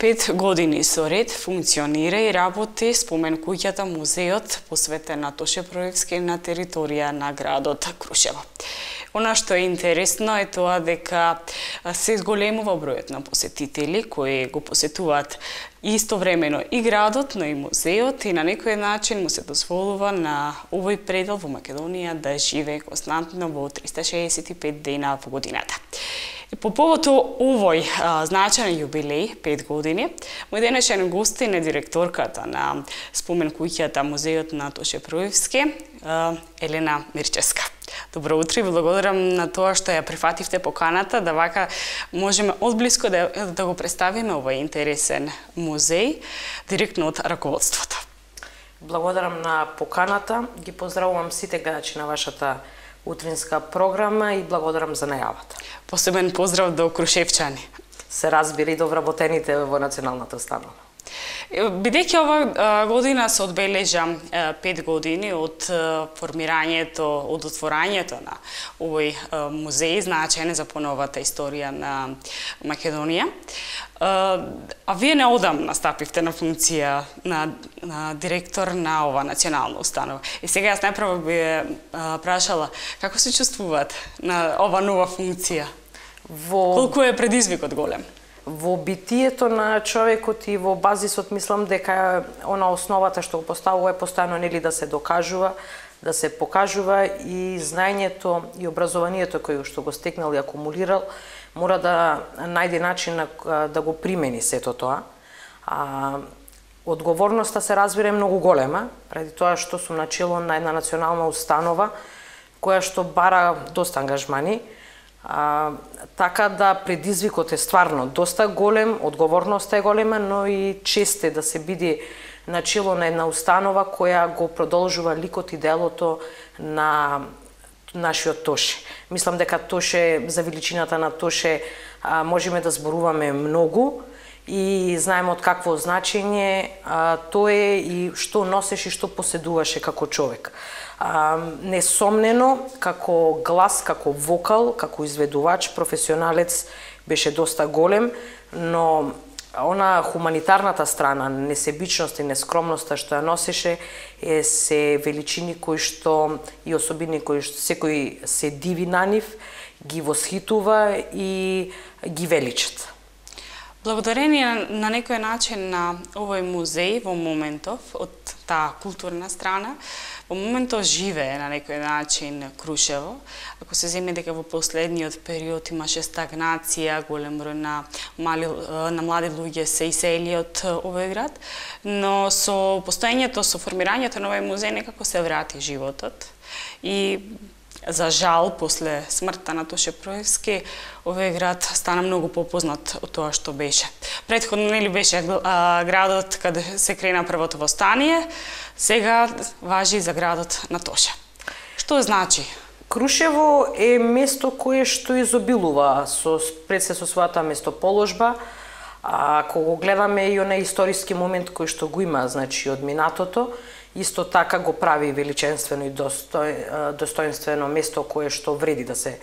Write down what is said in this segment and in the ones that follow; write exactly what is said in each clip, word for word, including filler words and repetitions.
Пет години со ред функционира и работи спомен куќата музеот посветен на Тоше Проевски на територија на градот Крушево. Она што е интересно е тоа дека се зголемува бројот на посетители кои го посетуваат истовремено и градот, но и музеот, и на некој начин му се дозволува на овој предел во Македонија да живее константно во триста шеесет и пет дена во годината. По повод овој а, значаен јубилеј, пет години, мој денешен гостин е директорката на спомен куќата музеот на Тоше Проевски, а, Елена Мирчевска. Добро утро и благодарам на тоа што ја прифативте поканата, да вака можеме одблиско да, да го представиме овој интересен музеј директно од раководството. Благодарам на поканата, ги поздравувам сите гледачи на вашата утринска програма и благодарам за најавата. Посебен поздрав до крушевчани. Се разбира и до вработените во националната установа. Бидејќи ова година се одбележа пет години од формирањето, од отворањето на овој музеј, значаен за поновата историја на Македонија, а вие неодамна стапивте на функција на, на директор на ова национална установа. И сега јас најпрво би прашала како се чувствуваат на ова нова функција? Во... Колку е предизвикот голем? Во битието на човекот и во базисот мислам дека она основата што го поставува е постојано нели да се докажува, да се покажува и знаењето и образованието кој што го стекнал и акумулирал мора да најде начин да го примени сето тоа. А, одговорноста се разбира многу голема, преди тоа што сум начело на една национална установа која што бара доста ангажмани. А, така да предизвикот е стварно доста голем, одговорноста е голема, но и чест е да се биде начело на една установа која го продолжува ликот и делото на нашиот Тоше. Мислам дека Тоше, за величината на Тоше, а, можеме да зборуваме многу и знаеме од какво значење а, тоа е и што носеше и што поседуваше како човек. А, несомнено, како глас, како вокал, како изведувач, професионалец беше доста голем, но она хуманитарната страна, несебичност и нескромноста што ја носеше е се величини кои што и особини кои што секој се диви на нив, ги восхитува и ги величат. Благодарение на некој начин на овој музеј во моментов од таа културна страна, во моментов живее на некој начин Крушево. Ако се земе дека во последниот период имаше стагнација, голем број на мали на млади луѓе се исели од овој град, но со постоењето, со формирањето на овој музеј некако се врати животот и за жал, после смртта на Тоше Проевски, овој град стана многу попознат од тоа што беше. Претходно нели беше а, градот каде се крена првото востание, сега важи за градот на Тоше. Што значи? Крушево е место кое што изобилува со пред се со својата место-положба. А ако го гледаме и онај историски момент кој што го има, значи од минатото, исто така го прави величенствено и достој, достоинствено место кое што вреди да се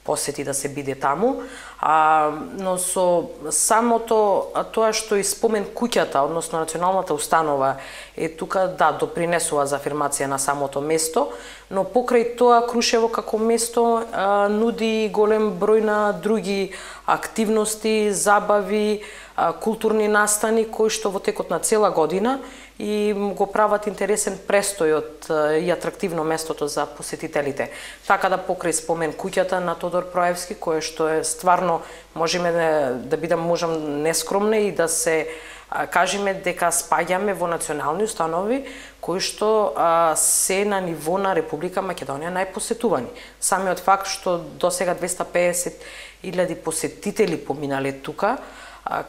посети, да се биде таму. А, но со самото тоа што и спомен куќата, односно националната установа е тука, да, допринесува за афирмација на самото место, но покрај тоа Крушево како место а, нуди голем број на други активности, забави, а, културни настани кои што во текот на цела година и го прават интересен престојот и атрактивно местото за посетителите. Така да покрај спомен куќата на Тодор Проевски, кое што е стварно, можеме да, да бидам можам нескромна и да се а, кажеме дека спаѓаме во национални установи кои што а, се на ниво на Република Македонија најпосетувани. Самиот факт што досега двеста педесет илјади посетители поминале тука,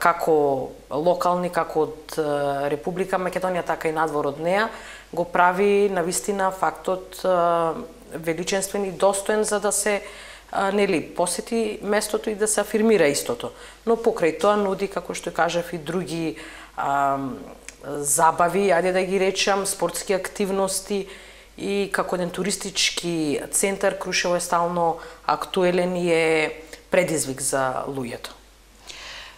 како локални, како од Република Македонија, така и надвор од неа, го прави навистина фактот величенствен и достоен за да се нели посети местото и да се афирмира истото. Но покрај тоа нуди, како што кажав, и други а, забави, ајде да ги речам, спортски активности и како еден туристички центар Крушево е стално актуелен и е предизвик за луѓето.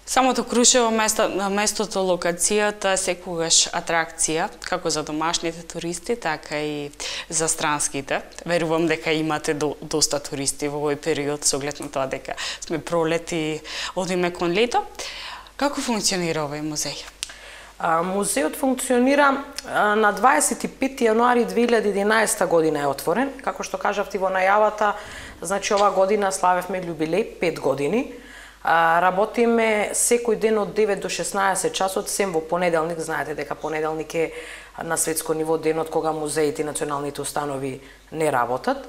Самото Крушево, место, местото, локацијата, секогаш атракција, како за домашните туристи, така и за странските. Верувам дека имате до, доста туристи во овој период, со оглед на тоа дека сме пролет и одиме кон лето. Како функционира овој музеј? А, музејот функционира а, на дваесет и пети јануари две илјади и единаесета година е отворен. Како што кажавте во најавата, значи ова година славевме јубилеј, пет години. А, работиме секој ден од девет до шеснаесет часот, сем во понеделник. Знаете дека понеделник е на светско ниво денот кога музеите и националните установи не работат.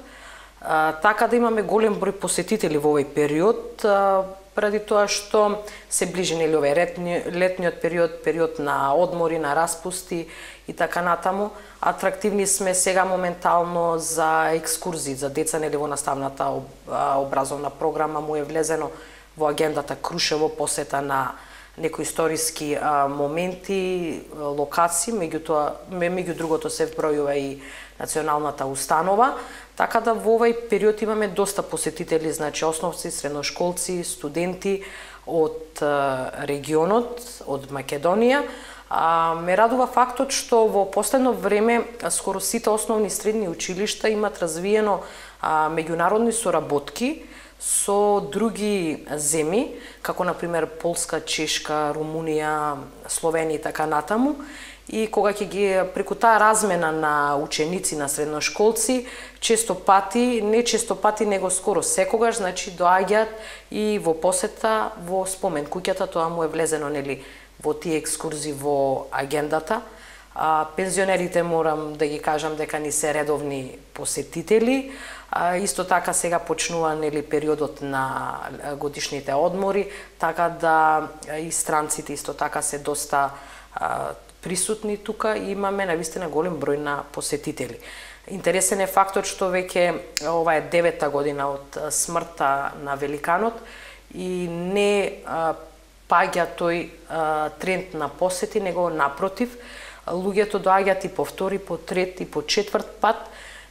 А, така да имаме голем број посетители во овој период, а, преди тоа што се ближи нели овој летни, летниот период, период на одмори, на распусти и така натаму. Атрактивни сме сега моментално за екскурзии за деца, нели во наставната об, образовна програма му е влезено во агендата Крушево, посета на некои историски а, моменти, локации, меѓутоа меѓу другото се вбројува и националната установа, така да во овој период имаме доста посетители, значи основци, средношколци, студенти од а, регионот, од Македонија. А, ме радува фактот што во последно време скоро сите основни и средни училишта имат развиено а, меѓународни соработки со други земји, како на пример Полска, Чешка, Румунија, Словенија и така натаму. И кога ќе ги преку таа размена на ученици, на средношколци, често пати, не често пати, него скоро секогаш, значи доаѓаат и во посета во спомен куќата, тоа му е влезено нели во тие екскурзии во агендата. А, пензионерите морам да ги кажам дека ни се редовни посетители. А, исто така сега почнува нели периодот на годишните одмори, така да и странците исто така се доста а, присутни тука и имаме навистина голем број на посетители. Интересен е фактот што веќе ова е девета година од смртта на великанот и не а, паѓа тој а, тренд на посети, него напротив, луѓето доаѓаат и по втори, по трет и по четврт пат,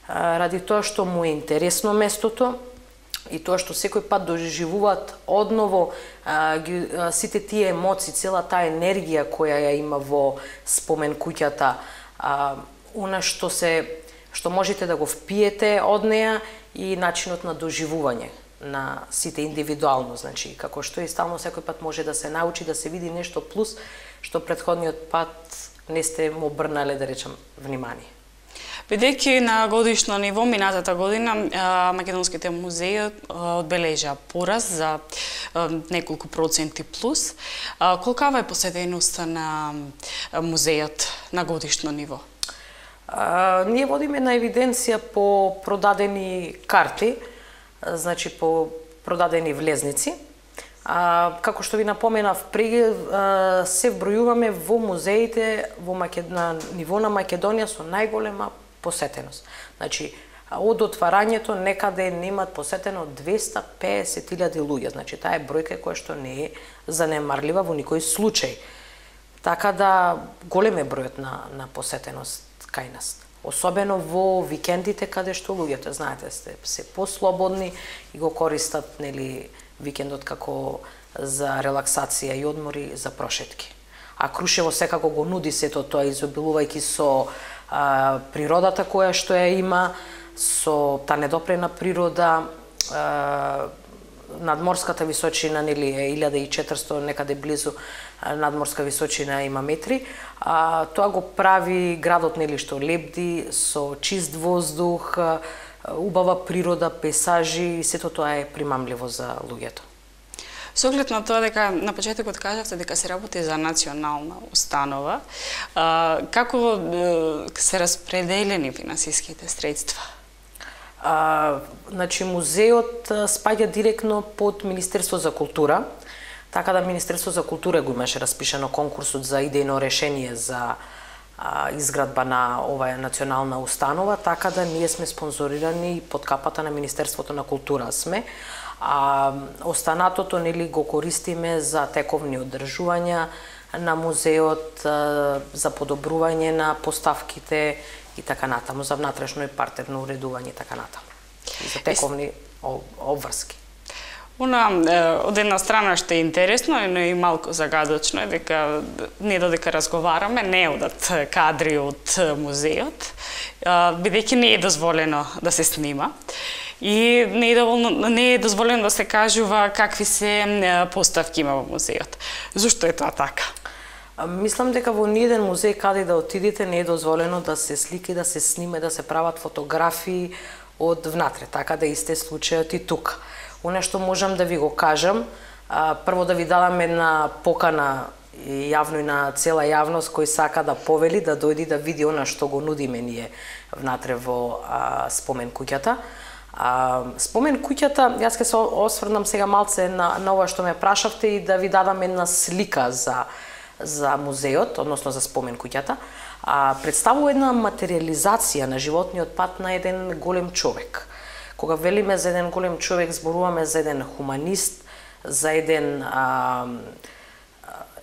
а, ради тоа што му е интересно местото и тоа што секој пат доживуваат одново а, ги, а, сите тие емоции, цела таа енергија која ја има во спомен куќата, а, она што се што можете да го впиете од неа и начинот на доживување на сите индивидуално, значи како што и стално секој пат може да се научи, да се види нешто плюс што претходниот пат не сте му обрнале, да речам, внимание. Бидејќи на годишно ниво минатата година македонските музеи одбележа пораз за неколку проценти плюс, колкава е посетеността на музејот на годишно ниво? А, ние водиме на евиденција по продадени карти, значи по продадени влезници. А, како што ви напоменав преди, се вбројуваме во музеите во Макед... на ниво на Македонија со најголема посетеност. Значи, од отварањето некаде немат посетено двеста песет илјади луѓе. Значи, таа е бројка која што не е занемарлива во никој случај. Така да голем е бројот на, на посетеност кај нас. Особено во викендите каде што луѓето, знаете, сте се послободни и го користат нели викендот како за релаксација и одмори, за прошетки. А Крушево секако го нуди сето тоа, изобилувајќи со а, природата која што ја има, со та недопрена природа, а, надморската височина нели е илјада и четиристотини, некаде близу надморска височина има метри. А, тоа го прави градот нели што лебди, со чист воздух, убава природа, пейсажи и сето тоа е примамливо за луѓето. Со оглед на тоа дека на почетокот кажавте дека се работи за национална установа, а, како се распределени финансиските средства? А, значи музеот спаѓа директно под Министерство за култура, така да Министерство за култура го имаше распишано конкурсот за идејно решение за а, изградба на оваа национална установа, така да ние сме спонзорирани под капата на Министерството на култура сме. А останатото нели го користиме за тековни одржувања на музеот, а, за подобрување на поставките и така натаму, за внатрешно и партерно уредување и така натаму. И за тековни обврски. Она, од една страна што е интересно, но и малку загадочно е дека не додека разговараме, не одат кадри од музеот, бидејќи не е дозволено да се снима. И не е, доволно, не е дозволено да се кажува какви се поставки има во музеот. Зошто е тоа така? Мислам дека во ниеден музеј каде да отидете не е дозволено да се слики, да се сниме, да се прават фотографии од внатре, така да исте случајот и тука. Оно што можам да ви го кажам, прво да ви дадам една покана и јавно и на цела јавност кој сака да повели, да дојди да види она што го нудиме ние внатре во а, спомен куќата. А, спомен куќата, јас ќе се осврнам сега малце на, на ова што ме прашавте и да ви дадам една слика за, за музеот, односно за спомен куќата. А, представува една материализација на животниот пат на еден голем човек. Кога велиме за еден голем човек, зборуваме за еден хуманист, за еден а,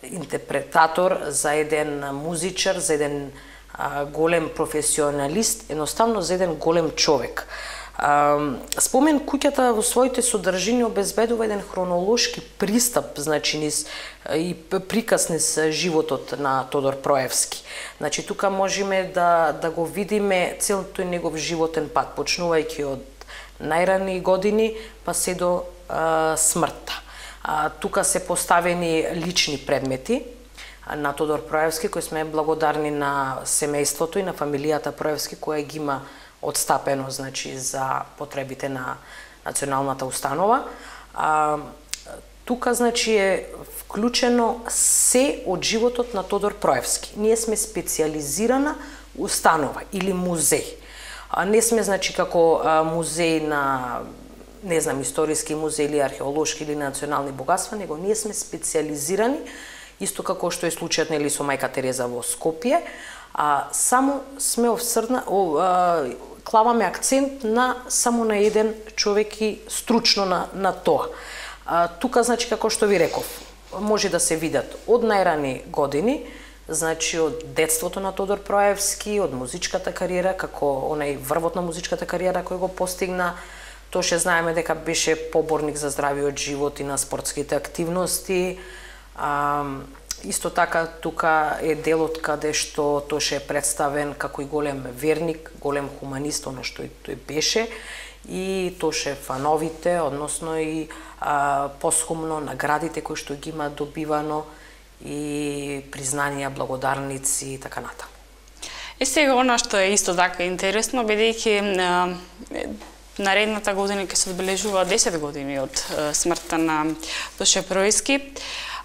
интерпретатор, за еден музичар, за еден а, голем професионалист, едноставно за еден голем човек. А, спомен куќата во своите содржини обезбедува еден хронолошки пристап, значи низ и приказ низ животот на Тодор Проевски. Значи тука можеме да да го видиме целиот тој негов животен пат, почнувајќи од најрани години па се до а, смртта. А, тука се поставени лични предмети на Тодор Проевски, кои сме благодарни на семејството и на фамилијата Проевски која ги има одстапено, значи за потребите на националната установа. А, тука значи е вклучено се од животот на Тодор Проевски. Ние сме специализирана установа или музеј. А, не сме значи како а, музеј на не знам историски музеј или археолошки или национални богатства, него ние сме специализирани исто како што е случајот нели со мајка Тереза во Скопје, а само сме овсрна о, а, клаваме акцент на само на еден човек и стручно на на тоа. А, тука значи како што ви реков, може да се видат од најрани години, значи од детството на Тодор Проевски, од музичката кариера, како онај врвот на музичката кариера кој го постигна. Тоше знаеме дека беше поборник за здравиот живот и на спортските активности. А, исто така тука е делот каде што Тоше е представен како и голем верник, голем хуманист, оно што и тој беше, и Тоше фановите, односно и а, посхумно наградите кои што ги има добивано и признанија, благодарници и така натаму. Е сега она што е исто така интересно, бидејќи наредната година ќе се одбележува десет години од смртта на Тоше Проевски,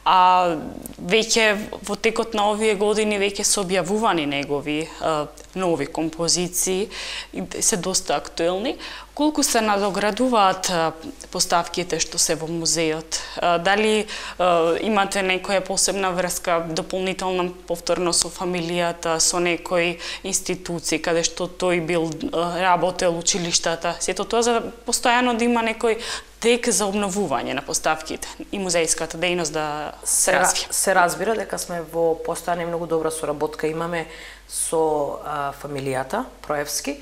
а веќе во текот на овие години веќе се објавувани негови а, нови композиции и се доста актуелни. Колку се надоградуваат а, поставките што се во музеот? А, дали а, имате некоја посебна врска, дополнителна повторно со фамилијата, со некои институции каде што тој бил а, работел, училиштата? Сето тоа за постојано да има некој тек за обновување на поставките и музејската дејност да се развие. Се разбира дека сме во постојана и многу добра соработка имаме со а, фамилијата Проевски,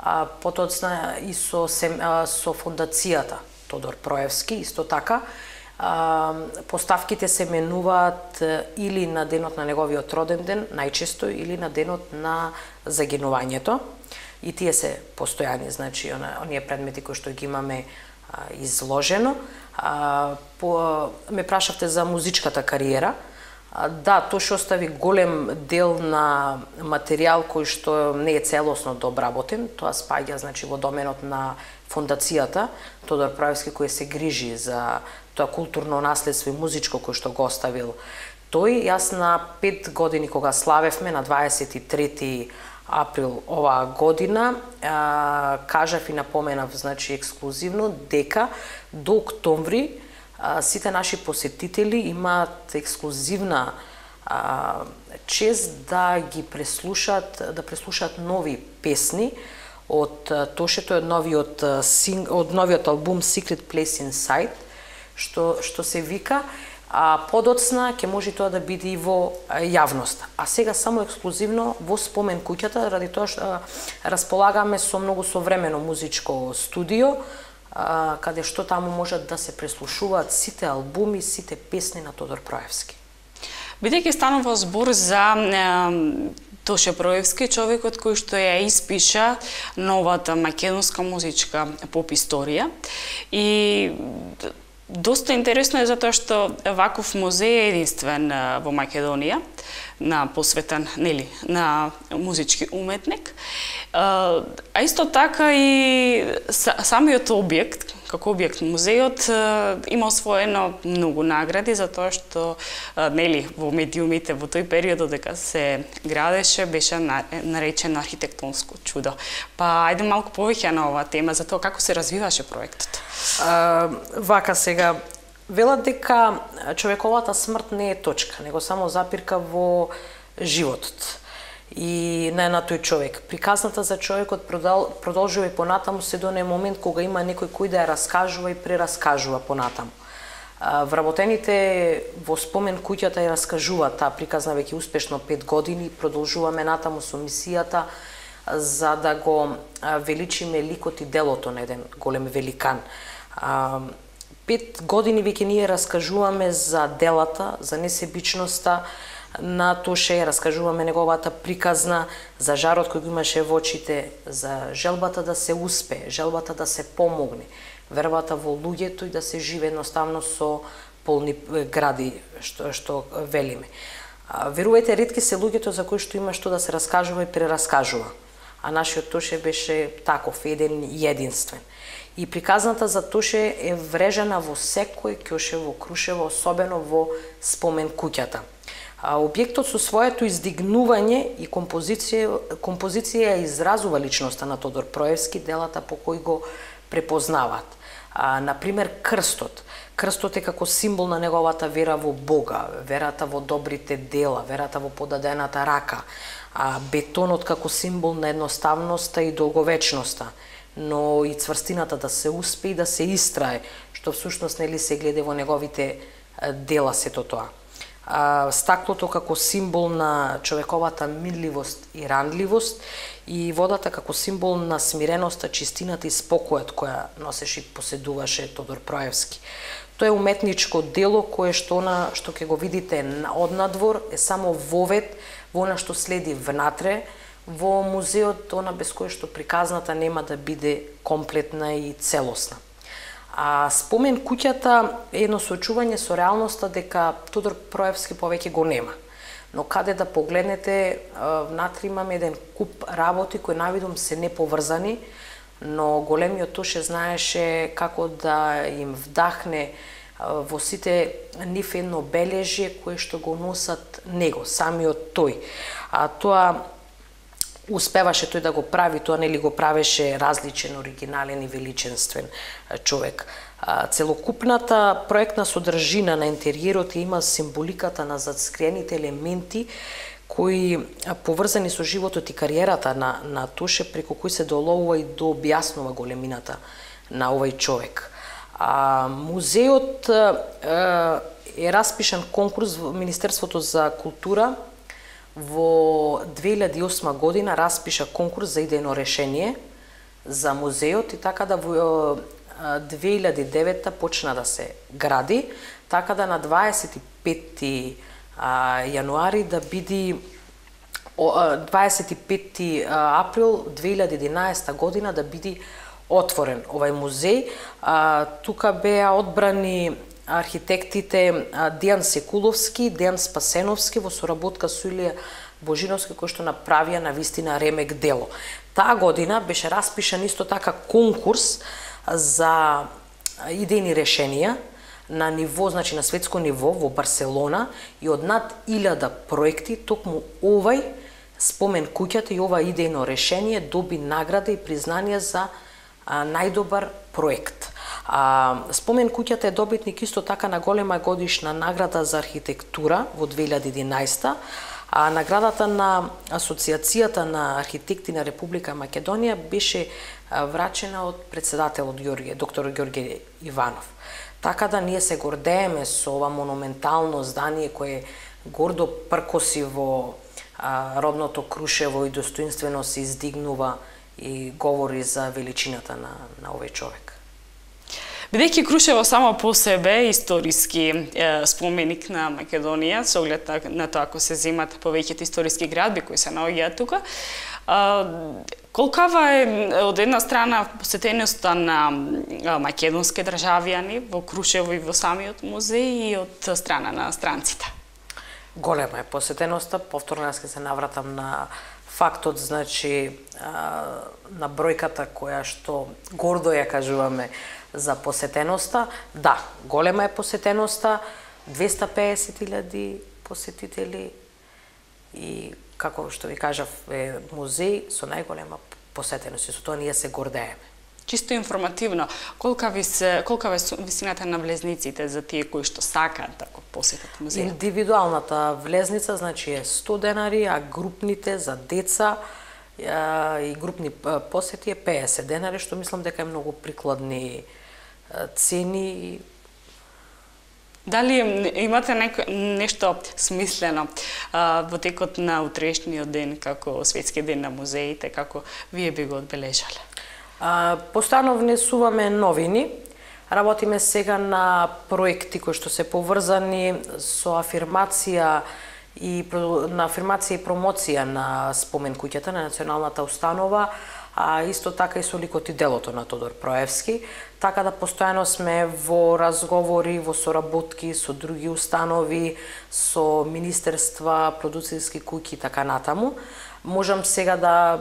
а потоцна и со сем, а, со фондацијата Тодор Проевски, исто така. А, поставките се менуваат или на денот на неговиот роден ден, најчесто, или на денот на загинувањето. И тие се постојани, значи оние предмети кои што ги имаме изложено. А, по, ме прашавте за музичката кариера. А, да, тоа што остави голем дел на материјал кој што не е целосно дообработен. Тоа спаѓа значи во доменот на фондацијата Тодор Проевски кој се грижи за тоа културно наследство и музичко кој што го оставил тој. Јас на пет години кога славевме на дваесет и трети април оваа година, а, кажав и напоменав значи ексклузивно дека до октомври а, сите наши посетители имаат ексклузивна а, чест да ги преслушаат, да преслушаат нови песни од Тоше, тој од новиот од новиот албум Secret Place Inside, што што се вика, а подоцна ќе може тоа да биде и во јавност. А сега само ексклузивно во спомен куќата, ради тоа што располагаме со многу современо музичко студио, каде што таму можат да се преслушуваат сите албуми, сите песни на Тодор Проевски. Бидејќи станува збор за Тоше Проевски, човекот кој што ја испиша новата македонска музичка поп историја, и доста интересно е затоа што ваков музеј е единствен во Македонија, на посветен, нели, на музички уметник. А исто така и самиот објект, како објект музејот, има освоено многу награди затоа што, нели, во медиумите во тој период додека се градеше беше наречен архитектонско чудо. Па ајде малку повеќе на оваа тема за тоа како се развиваше проектот. А, вака сега велат дека човековата смрт не е точка, него само запирка во животот и не на тој човек. Приказната за човекот продол, продолжува и понатаму се до оној момент кога има некој кој да ја раскажува и прераскажува понатаму. Вработените во спомен куќата ја раскажува таа приказна веќе успешно пет години, продолжуваме натаму со мисијата за да го величиме ликот и делото на еден голем великан. Пет години веќе ние раскажуваме за делата, за несебичноста на Тоше, раскажуваме неговата приказна, за жарот кој го имаше во очите, за желбата да се успее, желбата да се помогне, вербата во луѓето и да се живе едноставно со полни гради, што, што велиме. Верувајте, ретки се луѓето за кои што има што да се раскажува и прераскажува. А нашиот Тоше беше таков, еден и единствен. И приказната за Тоше е врежена во секој ќоше во Крушево, особено во спомен куќата. А објектот со своето издигнување и композиција, композиција изразува личноста на Тодор Проевски, делата по кои го препознаваат. А, например, крстот. Крстот е како символ на неговата вера во Бога, верата во добрите дела, верата во подадената рака, а бетонот како символ на едноставноста и долговечноста, но и цврстината да се успее и да се истрае, што всушност нели се гледа во неговите дела сето тоа. А, стаклото како символ на човековата мирливост и ранливост и водата како символ на смиреноста, чистината и спокојот која носеше и поседуваше Тодор Проевски. Тоа е уметничко дело кое што она што ќе го видите однадвор е само вовед во она што следи внатре во музеот, она без кое што приказната нема да биде комплетна и целосна. А спомен куќата е едно соочување со реалноста дека Тодор Проевски повеќе го нема. Но каде да погледнете, внатре имаме еден куп работи кои навидом се неповрзани, но големиот Тоше знаеше како да им вдахне во сите нив едно бележје кое што го носат него, самиот тој. А тоа успеваше тој да го прави, тоа нели го правеше различен, оригинален и величенствен човек. Целокупната проектна содржина на интериерот има символиката на затскриените елементи кои поврзани со животот и кариерата на, на Тоше, преку кои се доловува и до објаснува големината на овој човек. А, музеот е, е распишан конкурс во Министерството за култура во две илјади и осма година, распиша конкурс за идејно решение за музеот и така да во две илјади и девета почна да се гради, така да на дваесет и пети јануари да биде дваесет и пети април две илјади и единаесета година да биде отворен овај музеј. Тука беа одбрани архитектите Дејан Секуловски, Дејан Спасеновски во соработка со Илија Божиновски, кој што направија на вистина ремек дело. Таа година беше распишан исто така конкурс за идејни решенија на ниво, значи на светско ниво во Барселона и од над илјада проекти токму овај спомен куќата и ова идејно решение доби награда и признание за а, најдобар проект. А, спомен куќата е добитник исто така на голема годишна награда за архитектура во две илјади и единаесета, а наградата на Асоциацијата на архитекти на Република Македонија беше врачена од председателот Ѓорѓе, доктор Ѓорѓе Иванов. Така да ние се гордееме со ова монументално здание кое гордо пркоси во а, родното Крушево и достоинствено се издигнува и говори за величината на, на овој човек. Бидејќи Крушево само по себе историски е, споменик на Македонија, со оглед на, на тоа ако се земат повеќето историски градби кои се наоѓаат тука, а, колкава е од една страна посетеноста на македонски државјани во Крушево и во самиот музеј и од страна на странците? Голема е посетеноста, повторно јас ќе се навратам на фактот, значи, на бројката која што гордо ја кажуваме за посетеноста. Да, голема е посетеноста, двеста и песет илјади посетители и, како што ви кажав, е музеј со најголема посетеност и со тоа ние се гордееме. Чисто информативно, колка ви се колка е висината на влезниците за тие кои што сакаат да го посетат музејот? Индивидуалната влезница значи е сто денари, а групните за деца и групни посети е песет денари, што мислам дека е многу прикладни цени. Дали имате неко, нешто смислено а, во текот на утрешниот ден, како Светски ден на музеите, како вие би го одбележале? А, постојано внесуваме новини, работиме сега на проекти кои што се поврзани со афирмација и на афирмација и промоција на спомен куќата на националната установа, а исто така и со ликот и делото на Тодор Проевски, така да постојано сме во разговори, во соработки со други установи, со министерства, продуцерски куќи и така натаму. Можам сега да,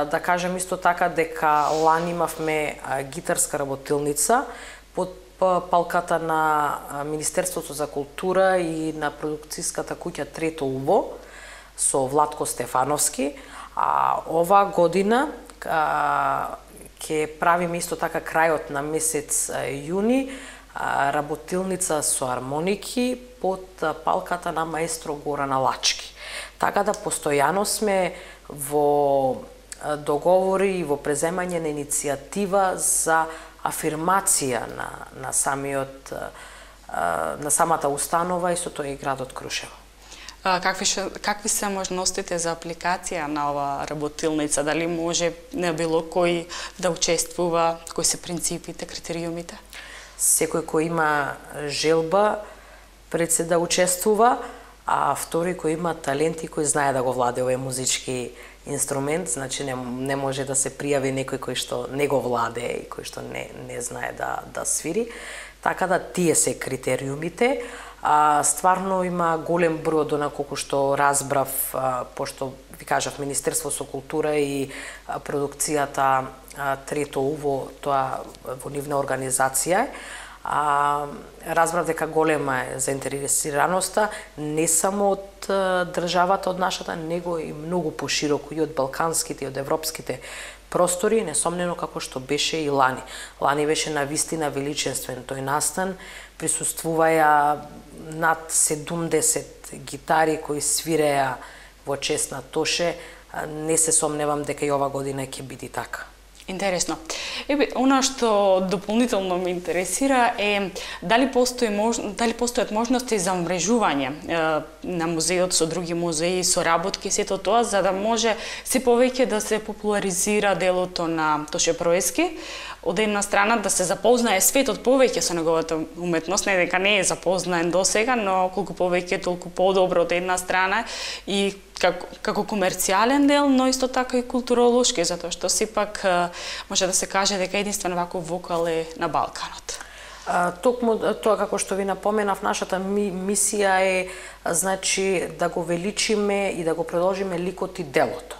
да кажем исто така дека лани имавме гитарска работилница под палката на Министерството за култура и на продукцијската куќа Трето уво со Владко Стефановски, а ова година ќе правиме исто така крајот на месец јуни работилница со армоники под палката на маестро Горан Алачки. Така да постојано сме во договори и во преземање на иницијатива за афирмација на, на самиот на самата установа и со тоа и градот Крушево. Какви, шо, какви се можностите за апликација на ова работилница? Дали може на било кој да учествува? Кои се принципите, критериумите? Секој кој има желба пред се да учествува, а втори кој има талент и кој знае да го владее овој музички инструмент, значи не, не може да се пријави некој кој што не го владее и кој што не, не знае да, да свири. Така да тие се критериумите. А, стварно има голем број од она колку што разбрав, а, пошто ви кажав Министерство со култура и а, продукцијата а, Трето уво, тоа во нивна организација. А, разбрав дека голема е заинтересираноста не само од а, државата од нашата, него и многу пошироко и од балканските и од европските простори, несомнено како што беше и лани. Лани беше навистина величествен тој настан, присуствуваја над седумдесет гитари кои свиреа во чест на Тоше. Не се сомневам дека и ова година ќе биде така. Интересно. Ебе, она што дополнително ме интересира е дали постои мож... дали постојат можности за умрежување е, на музеот со други музеи, со работки, сето тоа за да може се повеќе да се популаризира делото на Тоше Проевски. Од една страна да се запознае светот повеќе со неговата уметност, не дека не е запознаен досега, но колку повеќе толку подобро од една страна и како, како комерцијален дел, но исто така и културолошки, затоа што сепак може да се каже дека единствено ваков вокал е на Балканот. А, токму тоа како што ви напоменав, нашата ми, мисија е значи да го величиме и да го продолжиме ликот и делото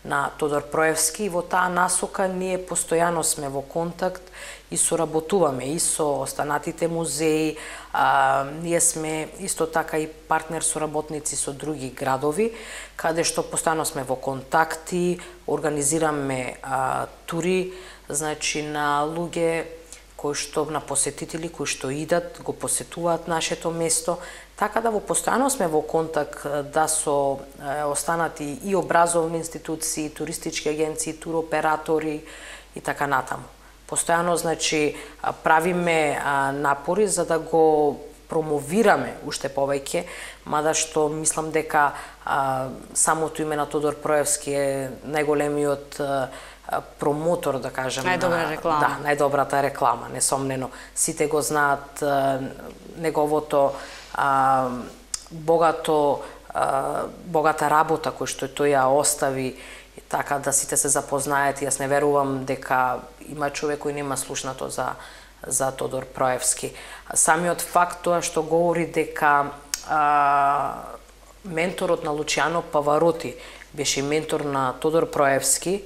на Тодор Проевски. Во таа насока ние постојано сме во контакт и соработуваме и со останатите музеи. А, ние сме исто така и партнер соработници со други градови, каде што постојано сме во контакти, организираме а, тури, значи на луѓе кои што на посетители кои што идат, го посетуваат нашето место, така да во постојано сме во контакт да со е, останати и образовни институции, туристички агенции, туроператори и така натаму. Постојано значи правиме а, напори за да го промовираме уште повеќе, мада што мислам дека а, самото име на Тодор Проевски е најголемиот а, промотор, да кажем. Најдобра реклама. Да, најдобрата реклама, несомнено. Сите го знаат а, неговото а, богато а, богата работа кој што тој ја остави, така да сите се запознаат. Јас не верувам дека има човек кој нема слушнато за за Тодор Проевски. Самиот факт тоа што говори дека а, менторот на Лучиано Павароти беше ментор на Тодор Проевски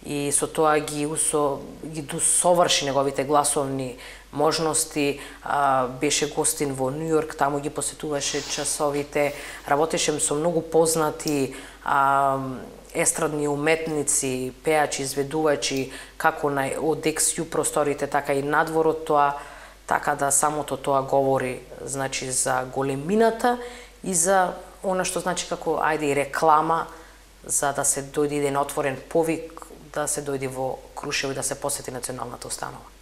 и со тоа ги усо ги досоврши неговите гласовни можности, а, беше гостин во Нью Йорк, таму ги посетуваше часовите, работеше со многу познати а, естрадни уметници, пеачи, изведувачи, како на од екс-ю просторите, така и надвор од тоа, така да самото тоа говори, значи, за големината и за она што значи како ајде и реклама за да се дојде еден отворен повик да се дојде во Крушево и да се посети националната установа.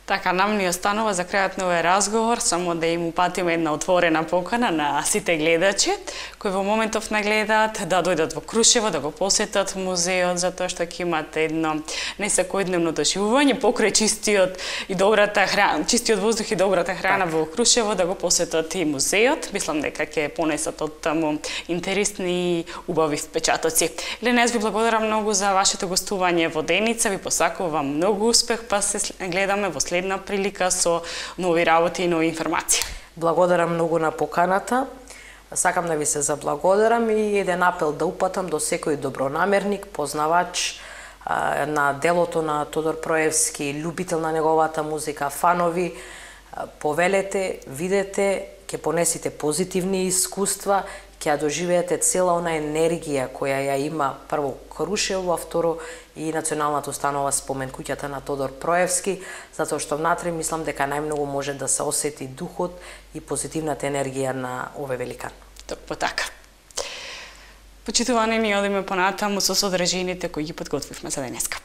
Така, нам ни останува за крајот на овој разговор само да им упатиме една отворена покана на сите гледачи кои во моментов не гледаат да дојдат во Крушево, да го посетат музеот, затоа што ќе имате едно несекојдневно доживување покрај чистиот и добрата храна, чистиот воздух и добрата храна во Крушево, да го посетат и музеот. Мислам дека ќе понесат од таму интересни и убави впечатоци. Елена, јас ви благодарам многу за вашето гостување во Деница, ви посакувам многу успех, па се гледаме во следна прилика со нови работи и нови информации. Благодарам многу на поканата. Сакам да ви се заблагодарам и еден апел да упатам до секој добронамерник, познавач а, на делото на Тодор Проевски, љубител на неговата музика, фанови, а, повелете, видете, ќе понесите позитивни искуства, ќе ја доживеете цела она енергија која ја има прво Крушево, а второ и националната установа спомен куќата на Тодор Проевски, затоа што внатре мислам дека најмногу може да се осети духот и позитивната енергија на овој великан. Токму така. Почитувани, ни одиме понатаму со содржините кои ги подготвивме за денеска.